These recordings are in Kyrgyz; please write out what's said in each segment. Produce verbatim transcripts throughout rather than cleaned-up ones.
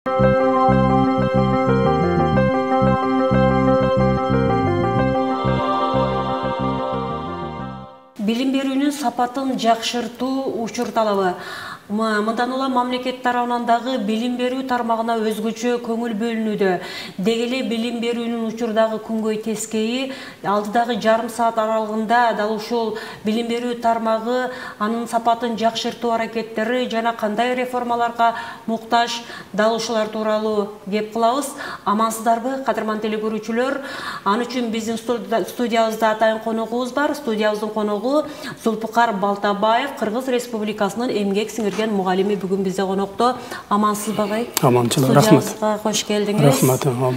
Билим берүүнүн сапатын жакшыртуу учур талабы. Мындан улам мамлекет тарабынан дагы билим берүү тармагына өзгөчө көңүл бөлүнүүдө. Деги эле билим берүүнүн учурдагы күнгөй тескейи алдыдагы жарым саат аралыгында дал ушул билим берүү тармагы анын сапатын жакшыртуу аракеттери жана кандай реформаларга муктаж, дал ушулар тууралуу кеп кылабыз. Амансыздарбы, кадырман телекөрүүчүлөр? Ан үчүн биздин студиябызда атайын коногубуз бар. Студиябыздын коногу Зулпукар Балтабаев, Кыргыз Республикасынын эмгек сиңирген мугалими бүгүн бизде конокто. Амансызбы агай? Аманчылык, рахмат. Студиябызга кош келдиңиз. Рахмат, аман.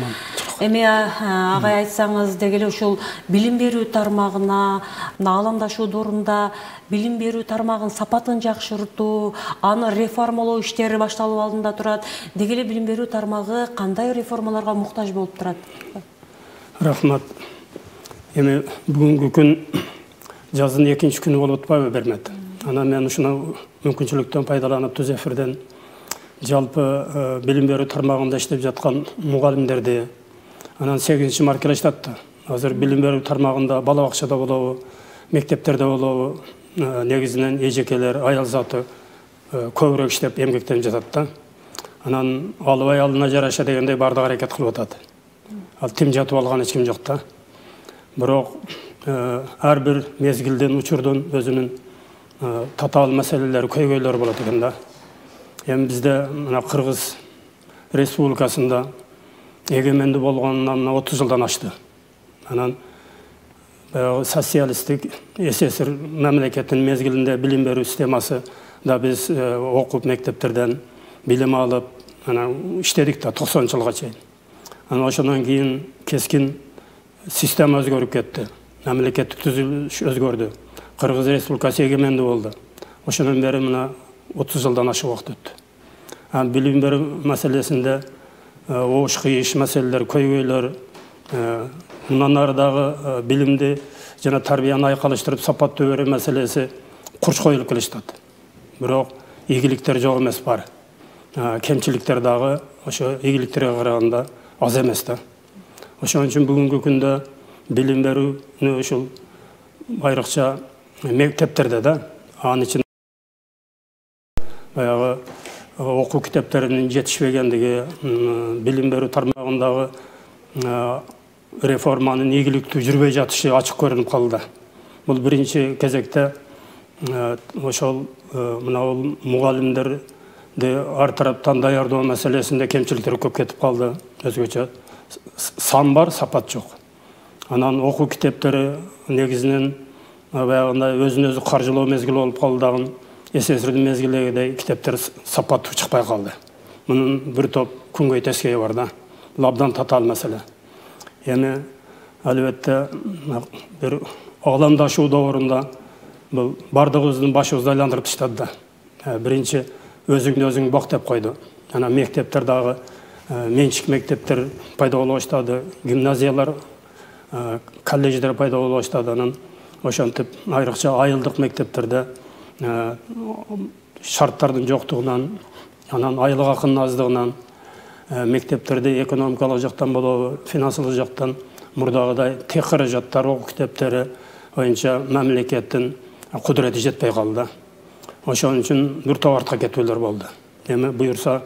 Эми агай айтсаңыз, деги эле ушул билим берүү тармагына аламдашуу доорунда билим берүү тармагынын сапатын жакшыртуу, аны реформалоо иштери башталуу алдында турат. Деги эле билим берүү тармагы кандай реформаларга муктаж болуп турат? Рахмат. Эми бүгүнкү күн жаздын экинчи күнү болуп атпайбы, Бермет? Анан мен ушуну мүмкүнчүлүктөн пайдаланып түз эфирден жалпы билим берүү тармагында иштеп жаткан мугалимдерди, анан сегизинчи маркалаштат да. Азыр билим берүү тармагында бала бакчада болобу, мектептерде болобу, негизинен эжекелер, аял заты көбүрөөк иштеп эмгектенип жатат да. Анан албай алына жараша дегендей баардык аракет кылып атат. Ал тим жатып алган эч ким жок да. Бирок ар бир мезгилдин, учурдун өзүнүн татаал маселелери, көйгөйлөрү болот экен да. Эми бизде мына Кыргыз Республикасында эгемендүү болгонуна мына отуз жылдан ашты. Анан баягы социалисттик СССР мамлекетинин мезгилинде билим берүү системасы да биз окуп мектептерден билим алып, анан иштедик да токсонунчу жылга чейин. Анан ошондон кийин кескин система өзгөрүп кетти. Мамлекеттик түзүлүш өзгөрдү. Кыргыз Республикасы эгемендүү болду. Ошондон бери мына отуз жылдан ашык убакыт өттү. Анан билим берүү маселесинде оош кыйыш маселелер, көйгөйлөр, мындан ары дагы билимди жана тарбияны айкалыштырып сапаттуу берүү маселеси курч коюлуп келишат. Бирок ийгиликтер жок эмес бар. Кемчиликтер дагы ошо ийгиликтерге караганда аз эмес да. Ошон үчүн бүгүнкү күндө билим берүүнү ушул айрыкча мектептерде да, анын ичинде баягы окуу китептеринин жетишпегендиги, билим берүү тармагындагы реформанын ийгиликтүү жүрбөй жатышы ачык көрүнүп калды. Бул биринчи кезекте ошол мына бул мугалимдерди ар тараптан даярдоо маселесинде кемчиликтер көп кетип калды. Өзгөчө сан бар, сапат жок. Анан окуу китептери негизинен баягындай өзүн өзү каржылоо мезгили болуп калдыгын СССРдин мезгилдегидей китептер сапаттуу чыкпай калды. Мунун бир топ күнгөй тескейи бар да. Бул абдан татаал маселе. Эми албетте бир аламдашуу доорунда бул бардыгыбыздын башыбызды айландырып таштады да. Биринчи өзүңдү өзүң бак деп койду. Анан мектептер дагы менчик мектептер пайда боло баштады, гимназиялар, колледждер пайда боло баштады. Анан ошентип айрыкча айылдык мектептерде шарттардын жоктугунан, анан айлык акынын аздыгынан, мектептерде экономикалык жактан болобу, финансылык жактан мурдагыдай тех каражаттар, окуу китептери боюнча мамлекеттин кудурети жетпей калды. Ошон үчүн бир топ артка кетүүлөр болду. Эми буюрса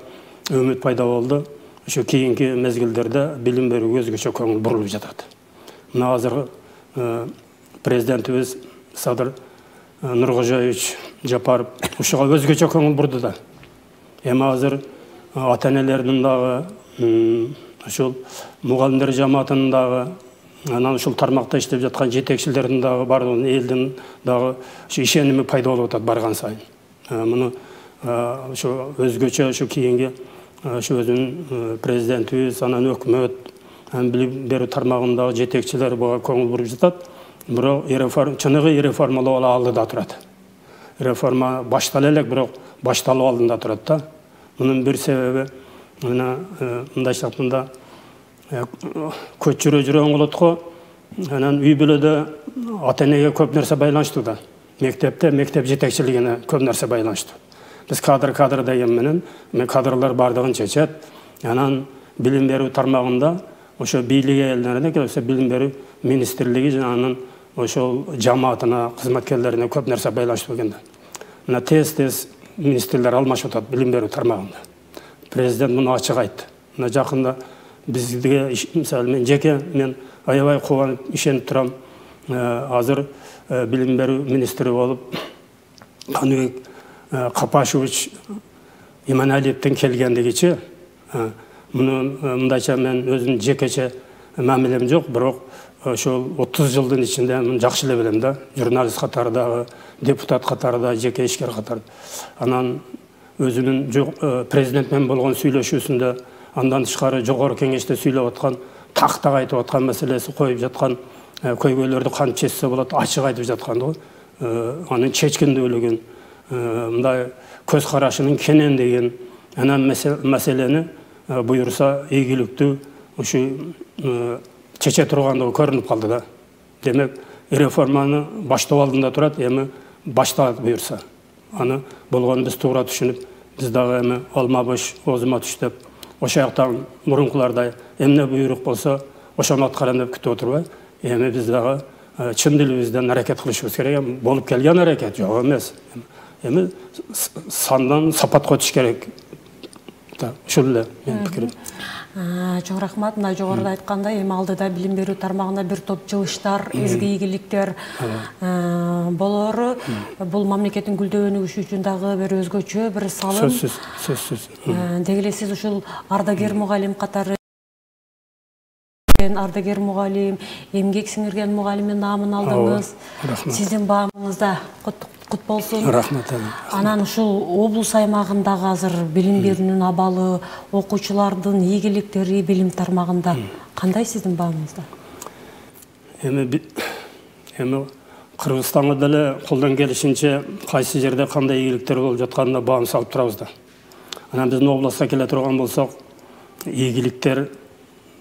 үмүт пайда болду. Ошо кийинки мезгилдерде билим берүүгө өзгөчө көңүл бурулуп жатат. Мына азыр президентибиз Садыр Нуркожоевич Жапаров ушуга өзгөчө көңүл бурду да. Эми азыр ата-энелердин дагы, ушул мугалимдер жамаатынын дагы, анан ушул тармакта иштеп жаткан жетекчилердин дагы бардыгынын элдин дагы ушу ишеними пайда болуп атат барган сайын. Муну ошо өзгөчө ошо кийинги ошо өзүнүн президентибиз, анан өкмөт, билим берүү тармагындагы жетекчилер буга көңүл буруп жатат. Бирок чыныгы реформалоо алдыда турат. Реформа баштала элек, бирок башталуу алдында турат да. Мунун бир себеби мына мындайча айтканда көч жүрө жүрө оңолот го. Анан үй бүлөдө ата-энеге көп нерсе байланыштуу да. Мектепте мектеп жетекчилигине көп нерсе байланыштуу. Biz kadr kadr деген менен, мен кадрлар бардыгын чечет, Анан билим берүү тармагында ошо бийлик элдерине келсе билим берүү министрлиги жана анын ошол жамаатына, кызматкерлерине көп нерсе байланыштуу экен да. Мына тез-тез министрлер алмашып атат билим берүү тармагында. Президент муну ачык айтты. Мына жакында бизге, мисалы мен жеке мен аябай кубанып ишенип турам. Азыр билим берүү министри болуп Каныбек Капашевич Иманалиевден келгендигичи муну мындайча мен өзүм жекече мамилем жок, бирок ошол отуз жылдын ичинде муну жакшы эле билем да. Журналист катарындагы, депутат катарында, жеке ишкер катарында. Анан өзүнүн президент менен болгон сүйлөшүүсүндө андан тышкары жогору кеңеште сүйлөп аткан, тактак айтып аткан маселеси коюп жаткан, көйгөйлөрдү кантип чечсе болот ачык айтып жаткан го. Анын чечкиндүүлүгүн, мындай көз карашынын кенендигин, анан маселени буюрса ийгиликтүү ушу чече тургандыгы көрүнүп калды да. Демек, реформаны баштоо алдында турат, эми башталат буюрса. Аны болгонун биз туура түшүнүп, биз дагы эми алма бош, оозума түш деп, ошол жактан мурункулардай эмне буйрук болсо, ошону аткарам деп күтүп отурбай, эми биз дагы чын дилибизден аракет кылышыбыз керек. Болуп келген аракет жок эмес. Эми сандан сапатка өтүш керек. Ушул эле менин пикирим. Чоң рахмат. Мына жогоруда айткандай, эми алдыда билим берүү тармагында бир топ жылыштар, изги ийгиликтер болору. Бул мамлекеттин гүлдөө өнүгүшү үчүн дагы бир өзгөчө бир салым. Сөзсүз, сөзсүз. Деги эле сиз ушул ардагер мугалим катары ардагер мугалим, эмгек сиңирген мугалимдин наамын алдыңыз. Сиздин баамыңызда кут болсун. Рахмат. Анан ушул облус аймагындагы азыр билим берүүнүн абалы, окуучулардын ийгиликтери билим тармагында кандай сиздин баамыңызда? Эми эми Кыргызстанга деле колдон келишинче кайсы жерде кандай ийгиликтер болуп жатканына баам салып турабыз да. Анан биздин областка келе турган болсок, ийгиликтер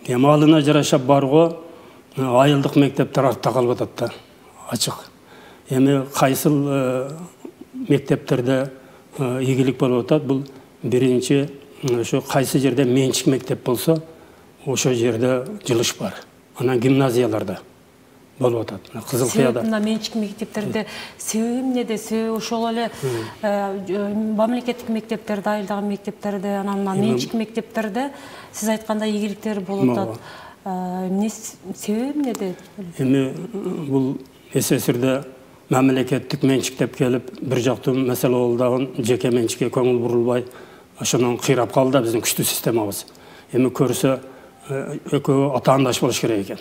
эми алына жараша барго айылдык мектептер артта калып атат да, ачык. Эми кайсыл мектептерде ийгилик болуп атат, бул биринчи ошо кайсы жерде менчик мектеп болсо, ошол жерде жылыш бар. Анан гимназияларда болуп атат. Кызылкыяда. Мына менчик мектептерде себеби эмнеде? Себеби ошол эле мамлекеттик мектептерде, айылдагы мектептерде, анан менчик мектептерде сиз айткандай ийгиликтер болуп атат. Эмне себеби эмнеде? Эми бул СССРде мамлекеттик менчик деп келип, бир жактуу маселе болдогон жеке менчикке көңүл бурулбай, ошондон кыйрап калды биздин күчтүү системабыз. Эми көрсө экөө атаандаш болуш керек экен.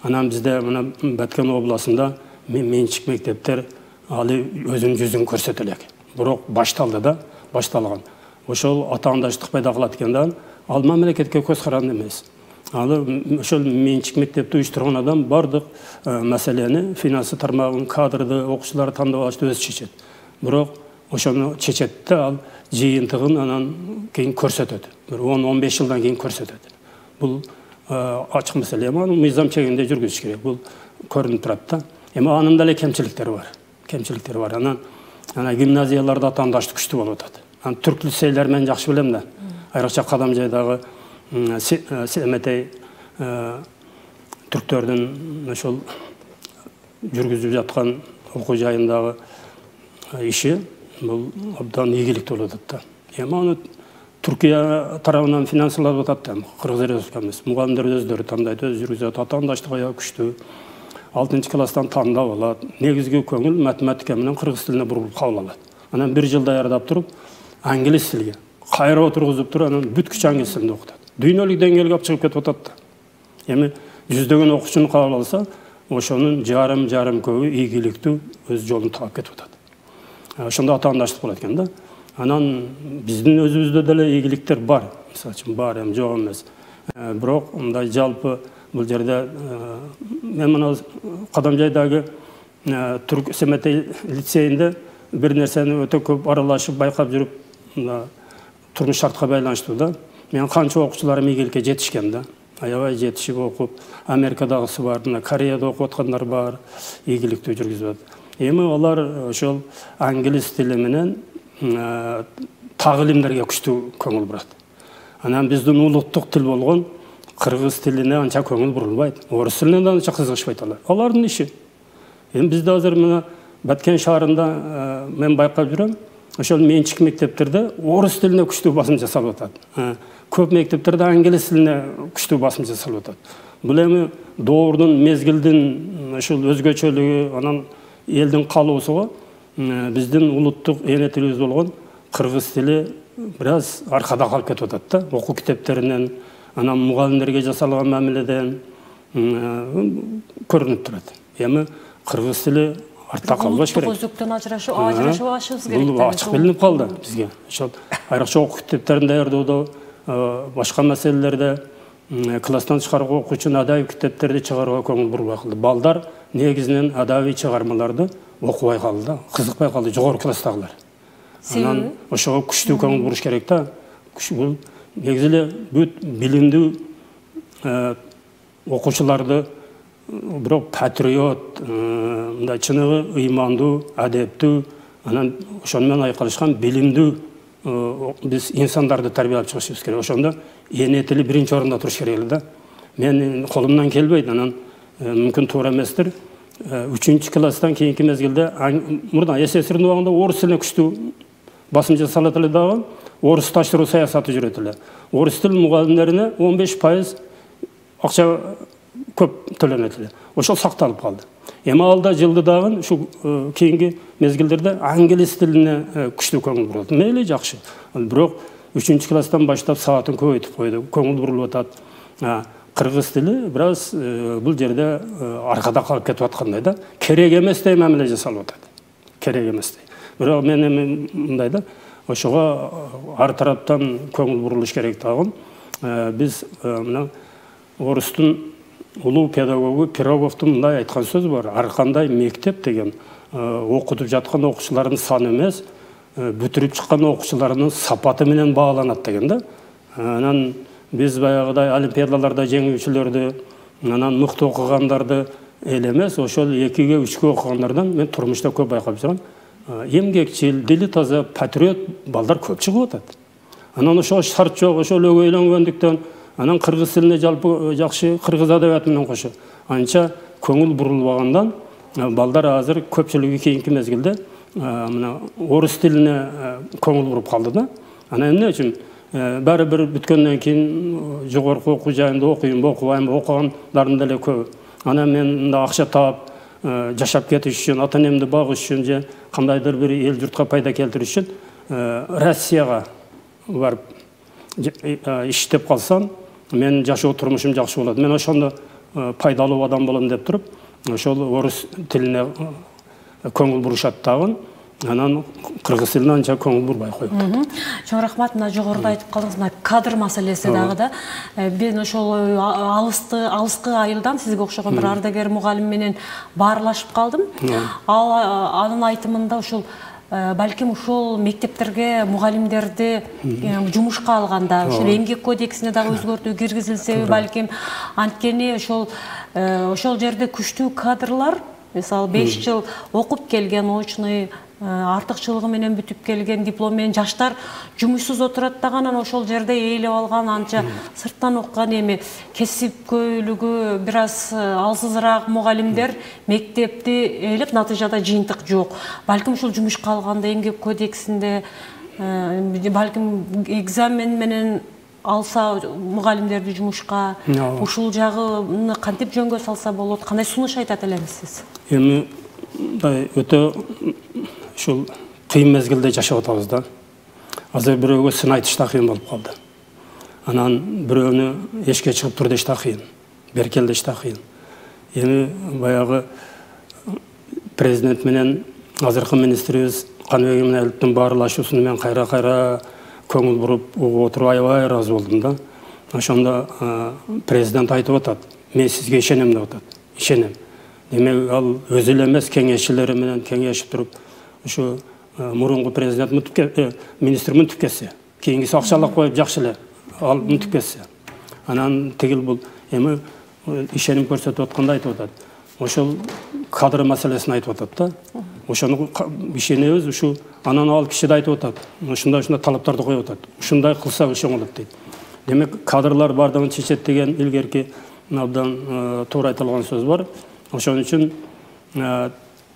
Анан бизде мына Баткен областында менчик мектептер алы өзүнүн жүзүн көрсөтө элек. Бирок башталды да, башталган. Ошол атаандаштык пайда кылат экен да, ал мамлекетке көз каранды эмес. Алы ошол менчик мектепти уюштурган адам бардык маселени, финансы тармагын, кадрды, окуучуларды тандап алышты өзү чечет. Бирок ошону чечет да, ал жыйынтыгын анан кийин көрсөтөт. Бир он он беш жылдан кийин көрсөтөт. Бул ачык маселе. Аны мыйзам чегинде жүргүзүш керек. Бул көрүнүп турат да. Эми анын деле кемчиликтери бар. Кемчиликтери бар. Анан ана гимназияларда атаандаштык күчтүү болуп атат. Анан түрк лицейлер мен жакшы билем да. Айрыкча Кадамжайдагы Семетей түрктөрдүн ошол жүргүзүп жаткан окуу жайындагы иши бул абдан ийгиликтүү болуп атат да. Эми аны Түркия тарабынан финансылап атат да. Кыргыз Республикасы эмес. Мугалимдер өздөрү тандайт, өзү жүргүзөт. Атаандаштык аябай күчтүү. алтынчы класстан тандап алат. Негизги көңүл математика менен кыргыз тилине бурулуп кабыл алат. Анан бир жыл даярдап туруп, англис тилге кайра отургузуп туруп, анан бүткүч англис тилинде окутат. Дүйнөлүк деңгээлге алып чыгып кетип атат да. Эми жүздөгөн окуучуну кабыл алса, ошонун жарым-жарым көбү ийгиликтүү өз жолун таап кетип атат. Ошондо атаандаштык болот экен да. Анан биздин өзүбүздө деле ийгиликтер бар. Мисалы үчүн бар, эми жок эмес. Бирок мындай жалпы бул жерде мен мына Кадамжайдагы Түрк Семетей лицейинде бир нерсени өтө көп аралашып байкап жүрүп, турмуш шартка байланыштуу да. Мен канча окуучуларым ийгиликке жетишкен да. Аябай жетишип окуп, Америкадагысы бар, мына Кореяда окуп аткандар бар, ийгиликтүү жүргүзүп атат. Эми алар ошол англис тили менен тагылимдерге күчтүү көңүл бурат. Анан биздин улуттук тил болгон кыргыз тилине анча көңүл бурулбайт. Орус тилине да анча кызыгышпайт алар. Алардын иши. Эми бизде азыр мына Баткен шаарында мен байкап жүрөм. Ошол менчик мектептерде орус тилине күчтүү басым жасалып атат. Көп мектептерде англис тилине күчтүү басым жасалып атат. Бул эми доордун, мезгилдин ушул өзгөчөлүгү, анан элдин калоосуга биздин улуттук эне тилибиз болгон кыргыз тили бир аз аркада калып кетип атат да. Окуу китептеринен, анан мугалимдерге жасалган мамиледен көрүнүп турат. Эми кыргыз тили артта калбаш керек. Өзүктөн ажырашып, ажырашыбашыбыз керек. Бул ачык билинип калды бизге. Ошол айрыкча окуу китептерин даярдоодо, башка маселелерде класстан тышкаркы окуучу адабий китептерди чыгарууга көңүл бурбай калды. Балдар негизинен адабий чыгармаларды окубай калды, кызыкпай калды, жогорку класстагылар. Анан ошого күчтүү көңүл буруш керек да. Бул негизи эле бүт билимдүү окуучуларды бирок патриот, мындай чыныгы ыймандуу, адептүү, анан ошону менен айкалышкан билимдүү биз инсандарды тарбиялап чыгышыбыз керек. Ошондо эне тили биринчи орунда туруш керек да. Мен колумдан келбейт, анан мүмкүн туура эместир. үчүнчү класстан кийинки мезгилде мурда СССРдин убагында орус тилине күчтүү басым жасалат эле дагы, орусташтыруу саясаты жүрөт эле. Орус тил мугалимдерине он беш пайыз акча көп төлөнөт эле. Ошол сакталып калды. Эми алда жылды дагы ушу кийинки мезгилдерде англис тилине күчтүү көңүл бурулат. Мейли жакшы. Бирок үчүнчү класстан баштап саатын көбөйтүп койду. Көңүл бурулуп атат. Кыргыз тили бир аз бул жерде аркада калып кетип аткандай да. Керек эместей мамиле жасалып атат. Керек эместей. Бирок мен эми мындай да, ошого ар тараптан көңүл бурулуш керек дагы. Биз мына орустун улуу педагогу Пироговдун мындай айткан сөзү бар. Ар кандай мектеп деген окутуп жаткан окуучулардын саны эмес, бүтүрүп чыккан окуучулардын сапаты менен бааланат деген да. Анан биз баягыдай олимпиадаларда жеңүүчүлөрдү, анан мыкты окугандарды эле эмес, ошол экиге, үчкө окугандардан мен турмушта көп байкап жүрөм. Эмгекчил, дили таза, патриот балдар көп чыгып атат. Анан ошо шарт жок, ошол өгөйлөнгөндүктөн анан кыргыз тилине жалпы жакшы, кыргыз адабияты менен кошо анча көңүл бурулбагандан балдар азыр көпчүлүгү кийинки мезгилде мына орус тилине көңүл буруп калды да. Анан эмне үчүн баары бир бүткөндөн кийин жогорку окуу жайында окуйм, окубайм, окугандардын деле көп. Анан мен мында акча таап жашап кетиш үчүн, ата энемди багыш үчүн же кандайдыр бир эл журтка пайда келтириш үчүн Россияга барып иштеп калсам, мен жашоо турмушум жакшы болот. Мен ошондо пайдалуу адам болом деп туруп, ошол орус тилине көңүл бурушат дагы. Анан кыргыз тилине анча көңүл бурбай коюп. Чоң рахмат. Мына жогоруда айтып калдыңыз, мына кадр маселеси дагы да. Мен ошол алысты алыскы айылдан сизге окшогон бир ардагер мугалим менен баарлашып калдым. Ал анын айтымында ошол балким ушул мектептерге мугалимдерди жумушка алганда ушул эмгек кодексине дагы өзгөртүү киргизилсе балким, анткени ошол ошол жерде күчтүү кадрлар, мисалы беш жыл окуп келген, очный артыкчылыгы менен бүтүп келген, диплом менен жаштар жумушсуз отурат дагы, анан ошол жерде ээлеп алган анча сырттан окуган эми кесипкөйлүгү бир аз алсызыраак мугалимдер мектепти ээлеп, натыйжада жыйынтык жок. Балким ушул жумушка алганда эмгек кодексинде балким экзамен менен алса мугалимдерди жумушка, ушул жагыны кантип жөнгө салса болот? Кандай сунуш айтат элемисиз? Эми өтө ушул кыйын мезгилде жашап атабыз да. Азыр бирөөгө сын айтыш да кыйын болуп калды. Анан бирөөнү эшикке чыгып тур деш да кыйын, беркел деш да кыйын. Эми баягы президент менен азыркы министрибиз Каныбек Иманалиевдин баарлашуусуна мен кайра-кайра көңүл буруп угуп отуруп аябай ыраазы болдум да. Ошондо президент айтып атат, мен сизге ишенем деп атат. Ишенем. Демек ал өзү эле эмес, кеңешчилери менен кеңешип туруп, ушу мурунку президент министр мынтип кетсе, кийингиси акчалап коюп жакшы эле, ал мынтип кетсе. Анан тигил бул эми ишеним көрсөтүп атканда айтып атат. Ошол кадр маселесин айтып атат да. Ошону ишенебиз, ушу анан ал киши да айтып атат. Ушундай ушундай талаптарды коюп атат. Ушундай кылсак иши оңолот дейт. Демек кадрлар бардыгын чечет деген илгерки абдан туура айтылган сөз бар. Ошон үчүн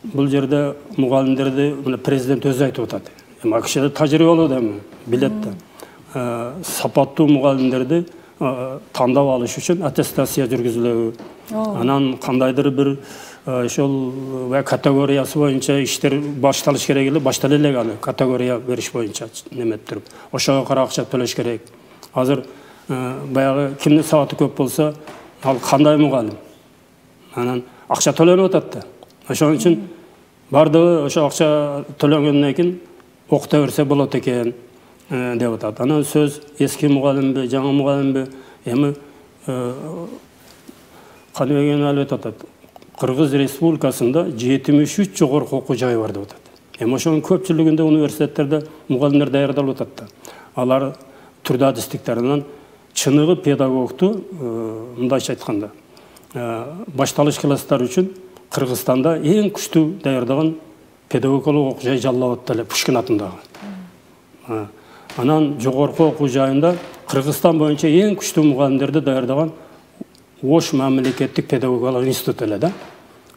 бул жерде мугалимдерди мына президент өзү айтып атат. Эми акшда тажрыйбалуу да эми билет да. Сапаттуу мугалимдерди тандап алыш үчүн аттестация жүргүзүлөбү. Анан кандайдыр бир ошол категориясы боюнча иштер башталыш керек эле, баштала элек аны категория бериш боюнча немет туруп. Ошого карап акча төлөш керек. Азыр баягы кимдин сабаты көп болсо, ал кандай мугалим? Анан акча төлөнүп атат да. Ошон үчүн бардыгы ошо акча төлөнгөндөн кийин окута берсе болот экен деп атат. Анан сөз эски мугалимби, жаңы мугалимби, эми Каныбек алып атат. Кыргыз Республикасында жетимиш үч жогорку окуу жайы бар деп атат. Эми ошонун көпчүлүгүндө университеттерде мугалимдер даярдалып атат да. Алар түрдө адистиктеринен чыныгы педагогту мындайча айтканда башталыш класстар үчүн Кыргызстанда эң күчтүү даярдаган педагогикалык окуу жай Жалал Абадта эле, Пушкин атындагы. Анан жогорку окуу жайында Кыргызстан боюнча эң күчтүү мугалимдерди даярдаган Ош мамлекеттик педагогикалык институт эле да.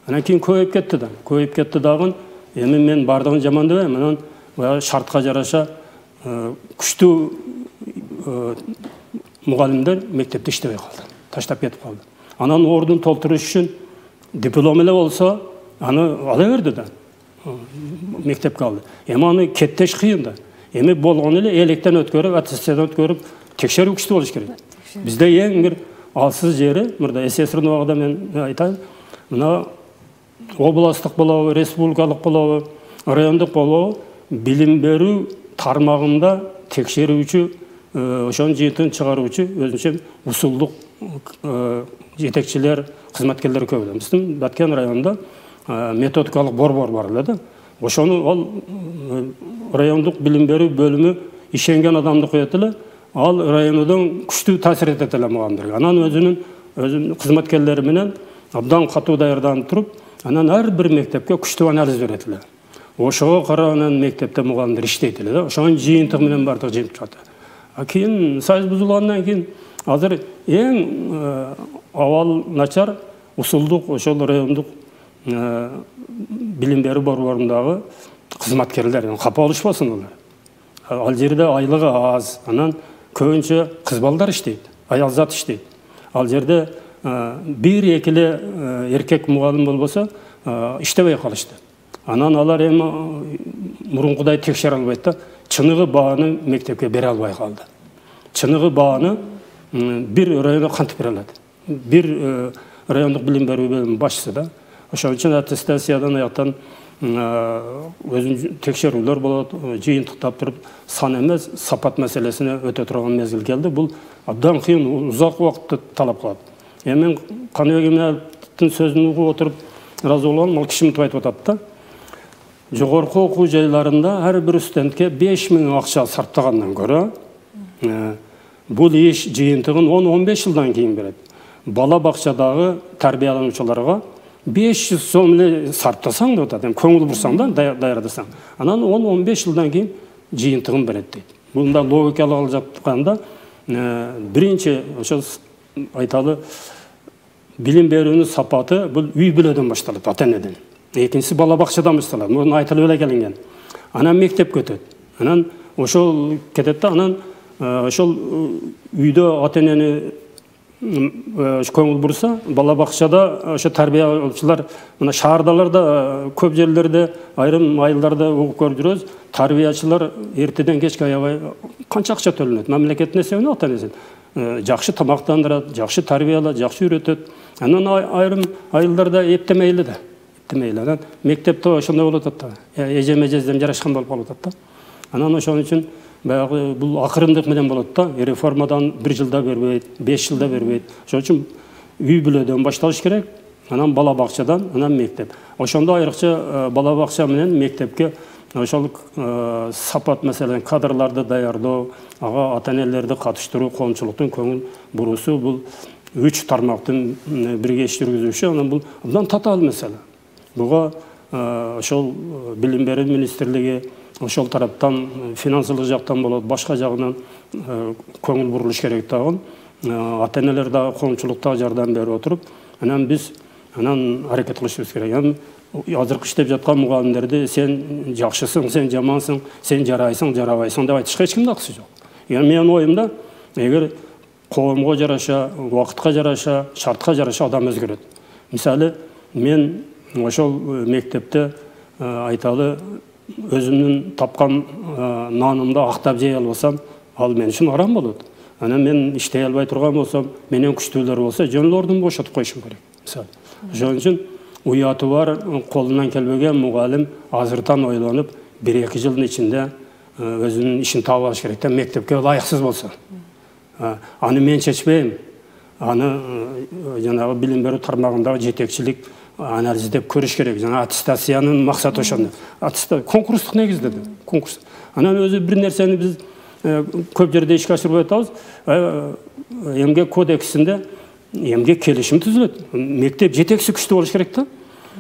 Анан кийин көбөйүп кетти да. Көбөйүп кетти дагы. Эми мен бардыгын жаман дебейм. Анан баягы шартка жараша күчтүү мугалимдер мектепте иштебей калды. Таштап кетип калды. Анан ордун толтуруш үчүн диплом эле болсо, аны ала берди да. Мектепке алды. Эми аны кеттеш кыйын да. Эми болгон эле электен өткөрүп, аттестациядан өткөрүп, текшерүү күчтүү болуш керек. Бизде эң бир алсыз жери, мурда СССРдин убагында мен айтайын, мына областтык болобу, республикалык болобу, райондук болобу, билим берүү тармагында текшерүүчү, ошонун жыйынтыгын чыгаруучу өзүнчө усулдук жетекчилер, кызматкерлер көп. Биздин Баткен районунда методикалык борбор бар эле да. Ошону ал райондук билим берүү бөлүмү ишенген адамды коет эле, ал районудан күчтүү таасир этет эле мугалимдерге. Анан өзүнүн өзүнүн кызматкерлери менен абдан катуу даярданып туруп, анан ар бир мектепке күчтүү анализ берет эле. Ошого карап анан мектепте мугалимдер иштейт эле да. Ошонун жыйынтыгы менен бардыгы жыйынтып чыгат. А кийин союз бузулгандан кийин азыр эң абал начар усулдук ошол райондук билим берүү борборундагы кызматкерлер капа болушпасын алар. Ал жерде айлыгы аз, анан көбүнчө кыз балдар иштейт, аял зат иштейт. Ал жерде бир экиле эркек мугалим болбосо иштебей калышты. Анан алар эми мурункудай текшере албайт да, чыныгы бааны мектепке бере албай калды. Чыныгы бааны бир районго кантип бере алат? Бир райондук билим берүү бөлүмүнүн башчысы да. Ошон үчүн аттестациядан аяктан өзүн текшерүүлөр болот, жыйынтыктап туруп, сан эмес, сапат маселесине өтө турган мезгил келди. Бул абдан кыйын, узак убакытты талап кылат. Эми мен Каныбек Эминаловдун сөзүн угуп отуруп ыраазы болгонум, ал киши мынтип айтып атат да. Жогорку окуу жайларында ар бир студентке беш миң акча сарптагандан көрө, бул иш жыйынтыгын он он беш жылдан кийин берет. Бала бакчадагы тарбиялануучуларга беш жүз сом эле сарптасаң деп атат, көңүл бурсаң да, даярдасаң. Анан он он беш жылдан кийин жыйынтыгын берет дейт. Бунда логикалык алып жатканда биринчи ошо айталы билим берүүнүн сапаты бул үй бүлөдөн башталат, ата-энеден. Экинчиси бала бакчадан башталат. Муну айтылып эле келинген. Анан мектепке өтөт. Анан ошол кетет да, анан ошол үйдө ата-энени көңүл бурса, бала бакчада ошо тарбиялоочулар, мына шаардаларда көп жерлерде, айрым айылдарда угуп көрүп жүрөбүз, тарбиячылар эртеден кечке аябай канча акча төлөнөт, мамлекеттин эсебинен ата-энесин. Жакшы тамактандырат, жакшы тарбиялат, жакшы үйрөтөт. Анан айрым айылдарда эптемейли да. Эптемейли. Анан мектепте ошондой болуп атат да. Эжем эжезден жарашкан болуп калып атат да. Анан ошон үчүн баягы бул акырындык менен болот да. Реформадан бир жылда бербейт, беш жылда бербейт. Ошон үчүн үй бүлөдөн башталыш керек. Анан бала бакчадан, анан мектеп. Ошондо айрыкча бала бакча менен мектепке ошол сапат маселен кадрларды даярдоо, ага ата-энелерди катыштыруу, коомчулуктун көңүл буруусу бул үч тармактын бирге иш жүргүзүшү, анан бул абдан татаал маселе. Буга ошол билим берүү министрлиги, ошол тараптан финансылык жактан болот, башка жагынан көңүл бурулуш керек дагы. Ата энелер дагы коомчулукта жардам берип отуруп, анан биз анан аракет кылышыбыз керек. Азыркы иштеп жаткан мугалимдерди сен жакшысың, сен жамансың, сен жарайсың, жарабайсың деп айтышка эч кимдин акысы жок. Менин оюмда, эгер коомго жараша, убакытка жараша, шартка жараша адам өзгөрөт. Мисалы, мен ошол мектепте айталы өзүмдүн тапкан нанымды актап жей албасам, ал мен үчүн арам болот. Анан мен иштей албай турган болсом, менен күчтүүлөр болсо, жөн эле ордун бошотуп коюшум керек. Мисалы, ошон үчүн уяты бар, колунан келбеген мугалим азыртан ойлонуп, бир-эки жылдын ичинде өзүнүн ишин таап алыш керек да, мектепке ылайыксыз болсо. Аны мен чечпейм. Аны жанагы билим берүү тармагындагы жетекчилик анализдеп көрүш керек. Жана аттестациянын максаты ошондо. Аттестация конкурстук негизде, конкурс. Анан өзү бир нерсени биз көп жерде ишке ашырбай атабыз. Эмгек кодексинде эмгек келишим түзүлөт. Мектеп жетекчиси күчтүү болуш керек да.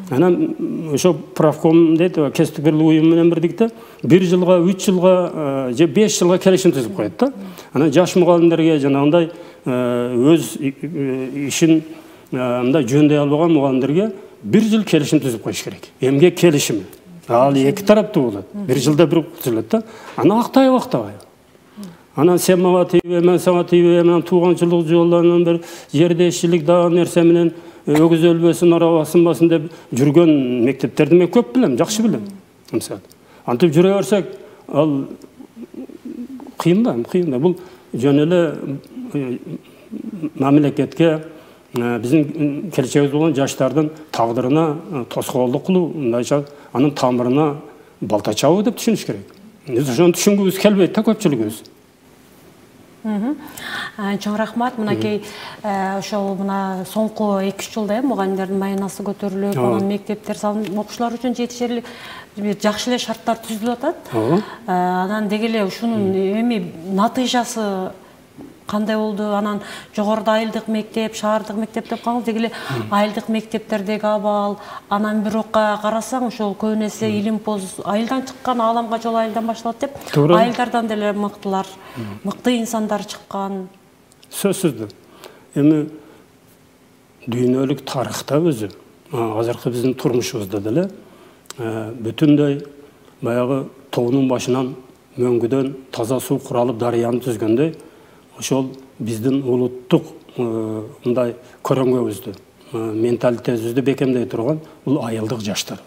Анан ошо правком дейт, кесиптик бирлик уюму менен бирдикте бир жылга, үч жылга же беш жылга келишим түзүп коет да. Анан жаш мугалимдерге жанагындай өз ишин мындай жөндөй албаган мугалимдерге бир жыл келишим түзүп коюш керек. Эмгек келишими. Ал эки тараптуу болот. Бир жылда бир түзүлөт да. Аны актайбы, актабайбы. Анан сен мага тийбе, мен сага тийбе, анан тууганчылык жолдорунан бир жердешчилик дагы нерсе менен өгүз өлбөсүн, арaba сынбасын деп жүргөн мектептерди мен көп билем, жакшы билем. Мисалы, антип жүрө берсек, ал кыйын да, кыйын да. Бул жөн эле мамлекетке, биздин келечегибиз болгон жаштардын тагдырына тоскоолдук кылуу, мындайча анын тамырына балта чабуу деп түшүнүш керек. Биз ошону түшүнгүбүз келбейт да көпчүлүгүбүз. Чоң рахмат. Мынакей ошол мына соңку эки үч жылда мугалимдердин майнасы көтөрүлүп, анан мектептер салынып, окуучулар үчүн жетишерлик жакшы эле шарттар түзүлүп атат. Анан деги эле ушунун эми натыйжасы кандай болду? Анан жогоруда айылдык мектеп, шаардык мектеп деп калды. Деги эле айылдык мектептердеги абал, анан бирок карасаң, ошол көбүн эсе илимпоз айылдан чыккан, ааламга жол айылдан башталат деп, айылдардан деле мыктылар, мыкты инсандар чыккан. Сөзсүз. Эми дүйнөлүк тарыхта өзү, азыркы биздин турмушубузда деле бүтүндөй баягы тоонун башынан мөңгүдөн таза суу куралып дарыяны түзгөндөй, ошол биздин улуттук мындай көрөңгөбүздү, менталитетибизди бекемдей турган бул айылдык жаштар.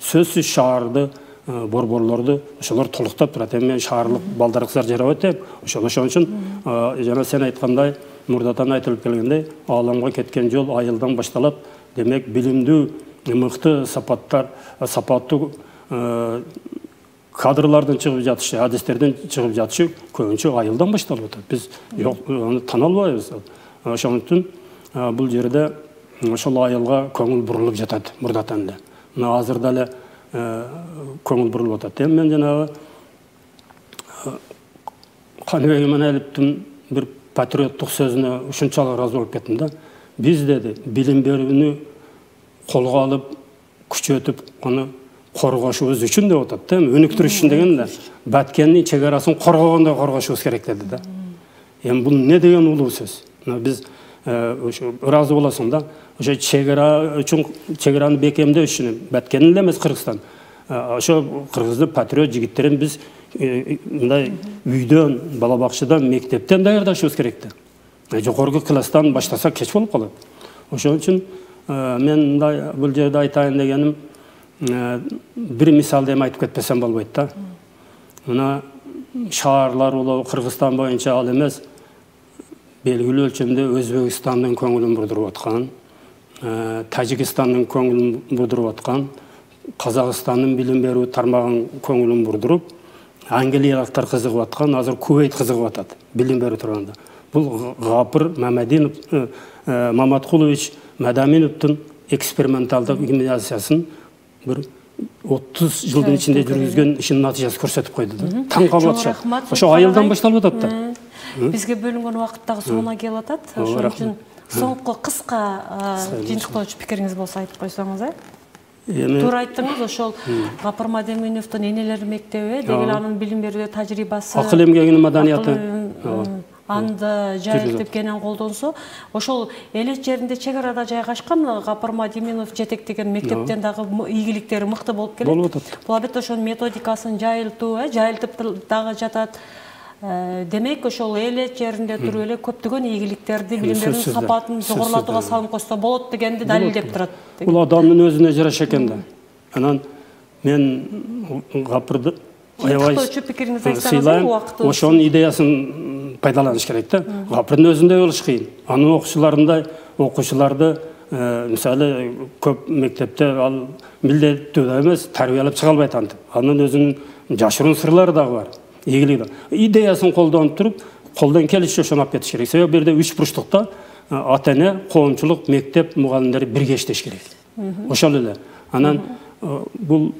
Сөзсүз шаарды, борборлорду ошолор толуктап турат. Эми мен шаарлык балдар кыздар жарабайт деп, ошол ошон үчүн жана сен айткандай, мурдатан айтылып келгендей, ааламга кеткен жол айылдан башталат. Демек, билимдүү, мыкты сапаттар, сапаттуу кадрлардын чыгып жатышы, адистерден чыгып жатышы көбүнчө айылдан башталып атат. Биз аны тана албайбыз. Ошон үчүн бул жерде ошол айылга көңүл бурулуп жатат мурдатан эле. Мына азыр деле көңүл бурулуп атат. Эми мен жанагы Каныбек Иманалиевдин бир патриоттук сөзүнө ушунчалык ыраазы болуп кеттим да. Биз деди, билим берүүнү колго алып, күчөтүп, аны коргошубуз үчүн деп атат. Өнүктүрүш үчүн деген да, Баткендин чек арасын коргогондой коргошубуз керек деди да. Эми бул не деген улуу сөз? Биз ошо ыраазы болосуң да, ошо чек ара үчүн, чек араны бекемдөө үчүн Баткендин эле эмес Кыргызстан. Ошо кыргыздын патриот жигиттерин биз мындай үйдөн, бала бакчадан, мектептен даярдашыбыз керек да. Жогорку класстан баштасак кеч болуп калат. Ошон үчүн мен мындай бул жерде айтайын дегеним, бир мисалды эми айтып кетпесем болбойт да. Мына шаарлар улуу Кыргызстан боюнча ал эмес, белгилүү өлчөмдө Өзбекстандын көңүлүн бурдуруп аткан, Тажикстандын көңүлүн бурдуруп аткан, Казакстандын билим берүү тармагынын көңүлүн бурдуруп, англиялыктар кызыгып аткан, азыр Кувейт кызыгып атат билим берүү турганда. Бул Гапыр Мамадинов, Маматкулович Мадаминовдун эксперименталдык гимназиясын бир отуз жылдын ичинде жүргүзгөн ишинин натыйжасы көрсөтүп койду да. Таң калып атышат. Ошо айылдан башталып атат да. Бизге бөлүнгөн убакыт дагы соңуна келип атат. Ошон үчүн соңку кыска жыйынтыктоочу пикириңиз болсо айтып койсоңуз, э? Туура айттыңыз, ошол Гапар Мадеминовдун энелер мектеби деген анын билим берүүдө тажрыйбасы, акыл эмгегинин маданияты анда жайылтып кенен колдонсо, ошол эле жеринде чек арада жайгашкан Гапар Мадеминов жетектеген мектептен дагы ийгиликтери мыкты болуп келет. Болуп атат. Бул албетте ошонун методикасын жайылтуу, жайылтып дагы жатат. Демек, ошол эле жеринде туруп эле көптөгөн ийгиликтерди, билим берүүнүн сапатын жогорулатууга салым кошсо болот дегенди далилдеп турат. Бул адамдын өзүнө жараша экен да. Анан мен Гапырды аябай сыйлайм, ошонун идеясын пайдаланыш керек да. Гапырдын өзүндөй болуш кыйын. Анын окуучуларындай окуучуларды мисалы көп мектепте ал милдеттүү эмес, тарбиялап чыга албайт антип. Анын өзүнүн жашыруун сырлары дагы бар. Ийгилиги. Идеясын колдонуп туруп, колдон келиши ошону алып кетиш керек. Себеби бирде үч бурчтукта ата-эне, коомчулук, мектеп, мугалимдери бирге иштеш керек. Ошол эле. Анан бул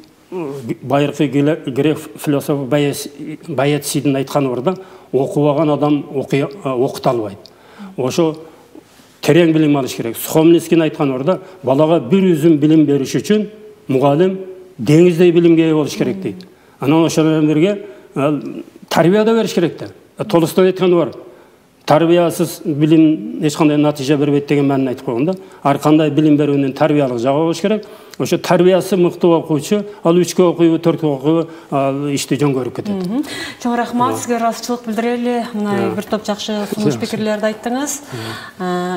байыркы грек философ Боэцийдин айтканы бар да, окубаган адам окута албайт. Ошо терең билим алыш керек. Сухомлинскийдин айтканы бар да, балага бир үзүм билим бериш үчүн мугалим деңиздей билимге ээ болуш керек дейт. Анан ошол менен бирге тарбия да бериш керек да. Толстой айтканы бар. Тарбиясыз билим эч кандай натыйжа бербейт деген маанини айтып койгон да. Ар кандай билим берүүнүн тарбиялык жагы болуш керек. Ошо тарбиясы мыкты окуучу, ал үчкө окуйбу, төрткө окуйбу, ал ишти жөн көрүп кетет. Чоң рахмат, сизге ыраазычылык билдирели. Мына бир топ жакшы сунуш пикирлерди айттыңыз.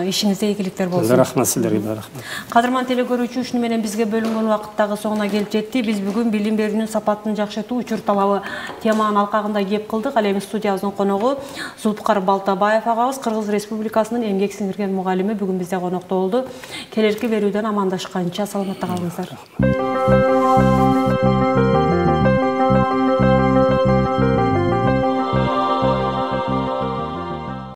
Ишиңизде ийгиликтер болсун. Рахмат силерге, рахмат. Кадырман теле көрүүчү, ушуну менен бизге бөлүнгөн убакыт дагы соңуна келип жетти. Биз бүгүн билим берүүнүн сапатын жакшыртуу учур талабы теманын алкагында кеп кылдык. Ал эми студиябыздын коногу Зулпукар Балтабаев агабыз, Кыргыз Республикасынын эмгек сиңирген мугалими, бүгүн бизде конокто болду. Келерки берүүдөн амандашканча саламатта калыңыздар. Rahmat.